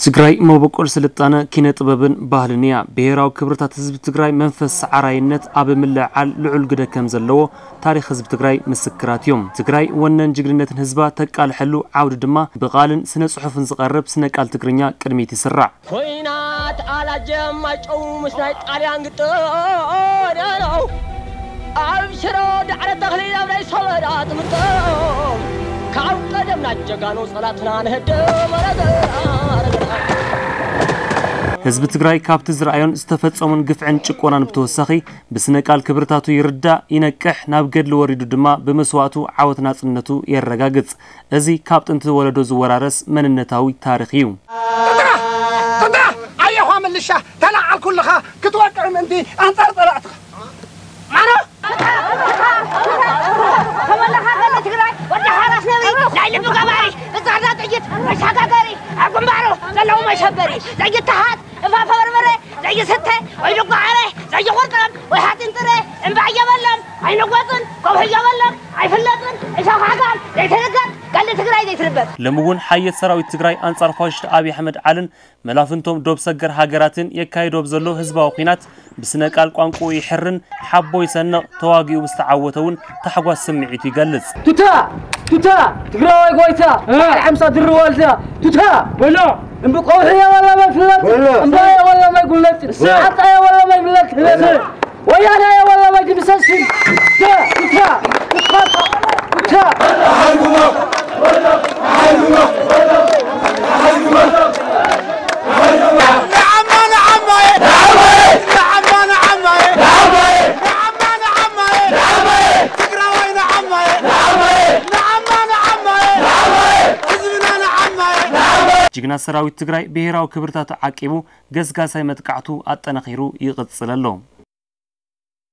ትግራይ መበቆል ስልጣነ፣ ኪነ ጥበብን ባህልን እያ። ብሄራዊ ክብርታት ህዝቢ ትግራይ መንፈስ ሰዓራይነት ኣብ ምልዕዓል ልዑል ግደ ከም ዘለዎ ታሪኽ ህዝቢ ትግራይ ምስክራት እዮም። ትግራይ ወነን ጅግንነትን ህዝባ ተቃልሐሉ ዓውዲ ድማ ብቓልን ስነ ጽሑፍን ዝቐርብ ስነ ቃል ትግርኛ ቅድሚት ይስራዕ። ኮይናት ኣላጀም ማይጨው ምስ ናይ ጣልያን ግጥም ኣብ ሽሮ ዳዕረ ተኽሊ ኣብ ናይ ሰበዳ ትምርጠው ካብ ቀደምና ጀጋኑ ጸላትና ንህድም ኣረገ ኣረገ ህዝቢ ትግራይ ካብቲ ዝረኣዮን ዝተፈጸሙን ግፍዕን ጭቆናን ብተወሳኺ ብስነ ቃል ክብርታቱ ይርዳእ፣ ይነቅሕ፣ ናብ ገድሊ ወሪዱ ድማ ብመስዋእቱ ዓወት ናጽነቱ የረጋግጽ። እዚ ካብ ጥንቲ ወለዶ ዝወራረስ መንነታዊ ታሪኽ እዩ። ኣየኳ ምልሻ ተላዓልኩልኻ ክትወቅዕ ምእንቲ ኣንጻር ጸላእትኻ ማሮ ተመለኻ ገለ ትግራይ ወዲ ሓራስ ነብሪ ናይ ልቢ ገባሪ ብጻዕዳ ጥይት መሻጋገሪ ኣብ ግንባሩ ዘለዉ መሸበሪ ዘይተሃት እፋፈ በርበረ ዘይስተ ወይ ድጓ ዓረ ዘይቁርጥረም ወይ ሓፂን ጥረ እምባ እየበሎም ኣይንወፅን ከውሒ እየበሎም ኣይፍለጥን እሾኽ ሓጋል ዘይትርገጥ ገሊ ትግራይ ዘይትርበብ። ሎሚ እውን ሓየት ሰራዊት ትግራይ ኣንጻር ፋሽስት ኣብይ ኣሕመድ ዓልን መላፍንቶም ዶብ ሰገር ሃገራትን የካይዶ ኣብ ዘሎ ህዝባዊ ኲናት ብስነ ቃል ቋንቋኡ ይሕርን ሓቦ ይሰንቕ ተዋጊኡ ብዝተዓወተ እውን ታሕጓስ ስምዒቱ ይገልጽ። ቱታ! ቱታ! ትግራዋይ ጓይታ! በዓል ሓምሳ ድሪ ዋልታ! ቱታ! በሎ! እምቢ ቆውሒ የወለመ ፍለጥ! እምባ የወለመ ጉለጥ! ዓጣ የወለመ ፍለጥ! ወያነ የወለመ ድምሰስ! ቱታ! ቱታ! ቱታ! ጅግና ሰራዊት ትግራይ ብሄራዊ ክብርታቱ ዓቂቡ ገስጋሳይ መጥቃዕቱ ኣጠናኺሩ ይቕጽል ኣሎ።